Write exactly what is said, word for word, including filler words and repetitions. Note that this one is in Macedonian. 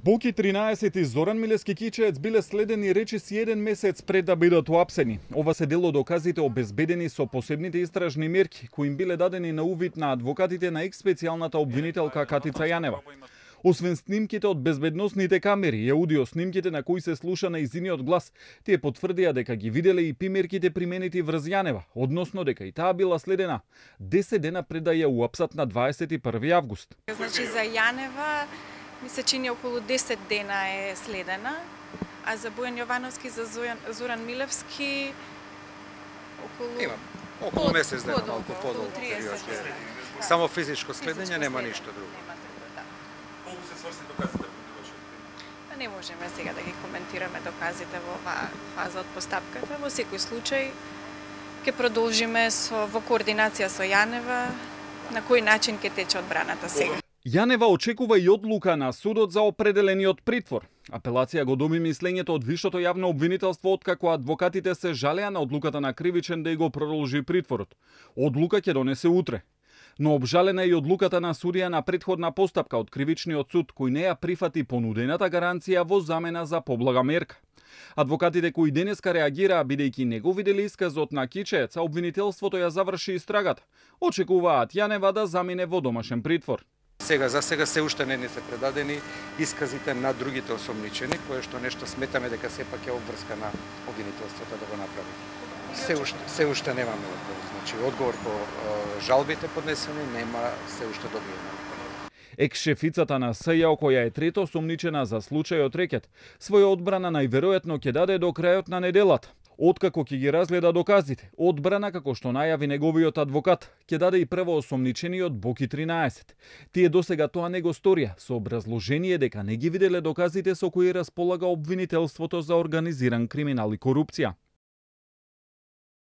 Боки тринаесет и Зоран Милевски Кичеец биле следени речиси еден месец пред да бидат уапсени. Ова се дел од доказите обезбедени со посебните истражни мерки кои им биле дадени на увид на адвокатите на екс-специјалната обвинителка Катица Јанева. Освен снимките од безбедносните камери и аудио снимките на кои се слуша нејзиниот глас, тие потврдија дека ги виделе и пимерките применети врз Јанева, односно дека и таа била следена десет дена пред да ја уапсат на дваесет и први август. Значи за Јанева ми се чини околу десет дена е следена, а за Бојан Јовановски, за Зоран Милевски околу Има околу месец дена, подолго, малку подолго. триесет дена. Само физичко следење, нема ништо друго. Колку се сврсни доказите во вашето? Не можеме сега да ги коментираме доказите во оваа фаза од постапката. Во секој случај ќе продолжиме со во координација со Јанева на кој начин ќе тече одбраната сега. Јанева очекува и одлука на судот за определениот притвор. Апелација го доби мислењето од Висшето јавно обвинителство откако адвокатите се жалеа на одлуката на кривичен да го продолжи притворот. Одлука ќе донесе утре. Но обжалена е и одлуката на судија на претходна постапка од кривичниот суд кој не ја прифати понудената гаранција во замена за поблага мерка. Адвокатите кои денеска реагираа бидејќи не го виделе исказот на Кичеец, а обвинителството ја заврши истрагата, очекуваат Јанева да замине во домашен притвор. Сега за сега се уште не ни се предадени исказите на другите осомничени, кое што нешто сметаме дека сепак е обврска на обвинителството да го направи. Се уште, се уште немаме одговор. Значи, одговор по е, жалбите поднесени нема се уште добиено. Екс-шефицата на СЈО, која е трето осомничена за случајот рекет, своја одбрана најверојатно ќе даде до крајот на неделата. Откако ќе ги разгледа доказите, одбрана како што најави неговиот адвокат, ќе даде и прво осомничениот Боки тринаесет. Тие досега тоа не го сторија, со образложение дека не ги виделе доказите со кои располага обвинителството за организиран криминал и корупција.